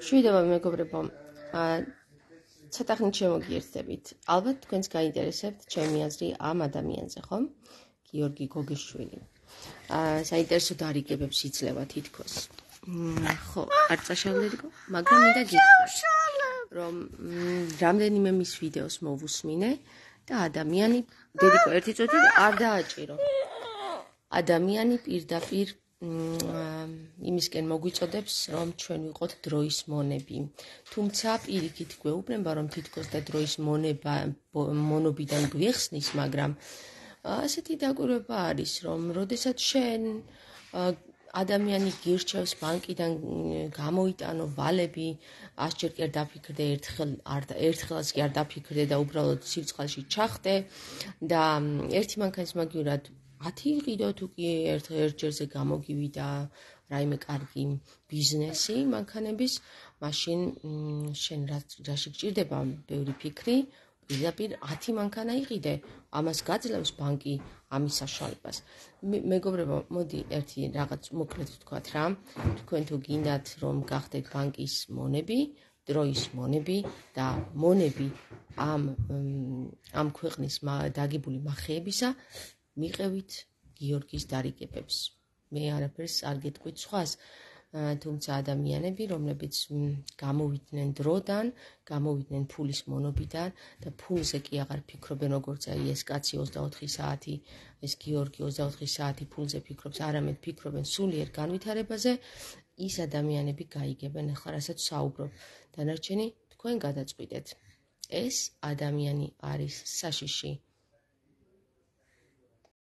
მშვიდობა მეგობრებო, ცოტა ხნით შემოგიერთდებით. ალბათ თქვენს გაინტერესებთ ჩემი აზრი ამ ადამიანზე, ხომ? გიორგი გოგიშვილი. საინტერესო დარიგებებს იძლევა თითქოს. ხო, არ წაშალდეთგო, მაგრამ მინდა გითხრათ, რომ რამდენიმე მის ვიდეოს მოვუსმინე და ადამიანი, დედიკო, ერთი წუთი არ დააჭირო. ადამიანი პირდაპირ იმისკენ მოგვიწოდებს, რომ ჩვენ ვიყოთ დროის მონები. თუმცა პირიქით გვეუბნება, რომ თითქოს და დროის მონობიდან გვიხსნის, მაგრამ ასეთი დაკვირვება არის, რომ როდესაც შენ ადამიანი გირჩევს ბანკიდან გამოიტანო ვალები, 100-ჯერ კი არ დაფიქრდე, ერთხელაც კი არ დაფიქრდე და უბრალოდ სივრცხელში ჩახტე და ერთი მანქანის მაგივრად 10 იყიდო თუ კი ერთ-ერთჯერზე გამოგივიდა რაიმე კარგი ბიზნესი მანქანების, მაშინ შენ რაში გჭირდება ბევრი ფიქრი, პირდაპირ 10 მანქანა იყიდე, ამას გაძლევს ბანკი ამის საშუალებას. მეგობრებო, მოდი ერთი რაღაც მოკლედ ვთქვათ რა, თქვენ თუ გინდათ რომ გახდეთ ბანკის მონები, დროის მონები და მონები ამ ქვეყნის დაგებული მახეებისა, მიყევით გიორგის დარიგებებს. მე არაფერს არ გეტყვით სხვას, თუმცა ადამიანები, რომლებიც გამოვიდნენ დროდან, გამოვიდნენ ფულის მონობიდან და ფულზე კი აღარ ფიქრობენ, როგორც ეს კაცი 24 საათი, ეს გიორგი 24 საათი ფულზე ფიქრობს, არამედ ფიქრობენ სულიერ განვითარებაზე, ის ადამიანები გაიგებენ ახლა რასაც საუბრობ. დანარჩენი თქვენ გადაწყვიტეთ. ეს ადამიანი არის საშიში